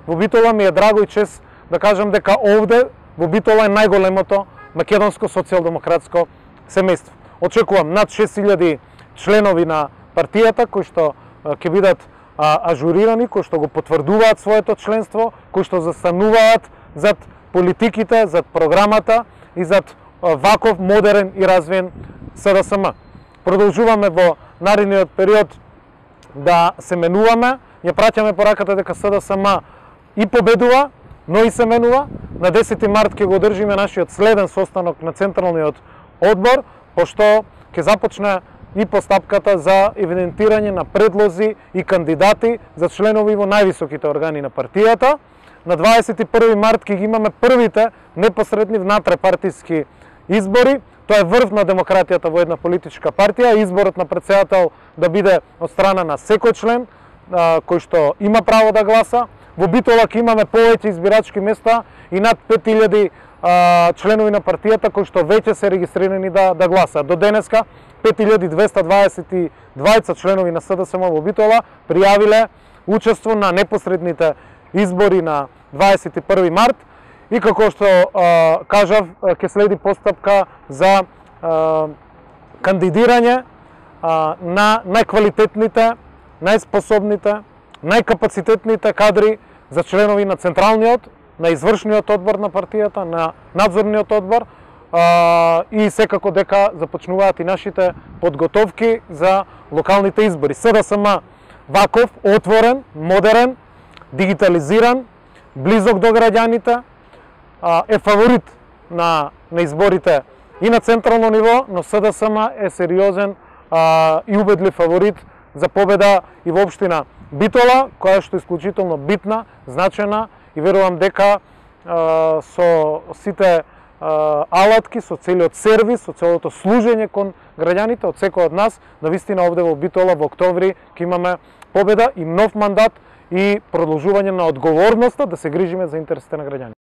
во Битола ми е драго и чест да кажам дека овде во Битола е најголемото македонско социјалдемократско семејство. Очекувам над 6000 членови на партијата кои што ќе бидат ажурирани, кои што го потврдуваат своето членство, кои што застануваат зад политиките, зад програмата и зад ваков модерен и развиен СДСМ. Продолжуваме во наредниот период да се менуваме, ја праќаме пораката дека СДСМ и победува, но и се менува. На 10 март ќе го одржиме нашиот следен состанок на Централниот одбор, пошто ќе започне и постапката за евидентирање на предлози и кандидати за членови во највисоките органи на партијата. На 21 март ќе ги имаме првите непосредни внатрепартиски избори. Тоа е врв на демократијата во една политичка партија. Изборот на председател да биде од страна на секој член кој што има право да гласа. Во Битола ќе имаме повеќе избирачки места и над 5000 членови на партијата кои што веќе се регистрирани да гласаат. До денеска 5222 членови на СДСМ во Битола пријавиле учество на непосредните избори на 21 март и како што кажав ќе следи постапка за кандидирање на најквалитетните, најспособните, најкапацитетните кадри за членови на Централниот, на извршниот одбор на партијата, на надзорниот одбор и секако дека започнуваат и нашите подготовки за локалните избори. СДСМ ваков, отворен, модерен, дигитализиран, близок до граѓаните, е фаворит на изборите и на централно ниво, но СДСМ е сериозен и убедлив фаворит за победа и во општина Битола, која што е исклучително битна, значена и верувам дека со сите алатки, со целиот сервис, со целото служење кон граѓаните од секој од нас, навистина овде во Битола во октомври ќе имаме победа и нов мандат и продолжување на одговорноста да се грижиме за интересите на граѓаните.